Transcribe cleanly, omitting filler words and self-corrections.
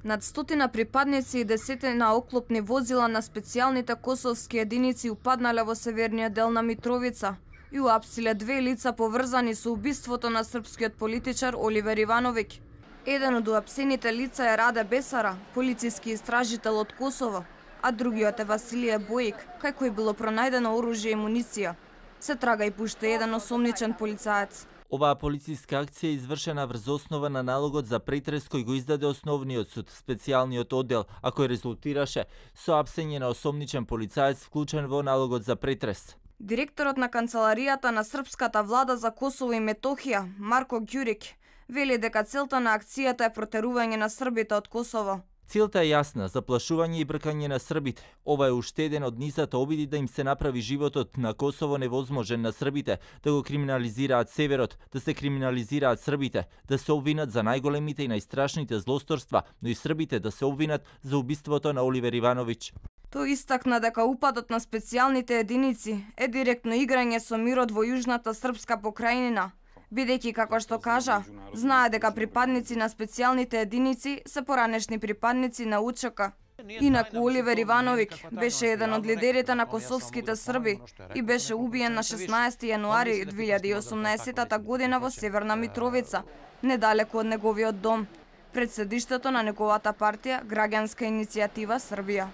Над 100 припадници и десетина оклопни возила на специјалните косовски единици упаднале во северниот дел на Митровица и уапсиле 2 лица поврзани со убиството на српскиот политичар Оливер Ивановиќ. Еден од уапсените лица е Раде Бесара, полициски истражител од Косово, а другиот е Василие Бојик, кај кој било пронајдено оружје и муниција. Се трага и пуште еден осомничен полицаец. Оваа полициска акција е извршена врз основа на налогот за претрес кој го издаде основниот суд, специјалниот оддел, а кој резултираше со апсење на осомничен полицаец вклучен во налогот за претрес. Директорот на канцеларијата на српската влада за Косово и Метохија, Марко Ѓурик, вели дека целта на акцијата е протерување на србите од Косово. Целта е јасна, заплашување и бркање на србите. Ова е уште еден од низата обиди да им се направи животот на Косово невозможен на србите, да го криминализираат северот, да се криминализираат србите, да се обвинат за најголемите и најстрашните злосторства, но и србите да се обвинат за убиството на Оливер Ивановиќ. Тој истакна дека упадот на специјалните единици е директно играње со мирот во јужната српска покрајнина, бидејќи, како што кажа, знае дека припадници на специјалните единици се поранешни припадници на УЧК. Инаку Оливер Ивановиќ беше еден од лидерите на косовските срби и беше убиен на 16 јануари 2018 година во Северна Митровица, недалеку од неговиот дом, пред седиштето на неговата партија Граѓанска иницијатива Србија.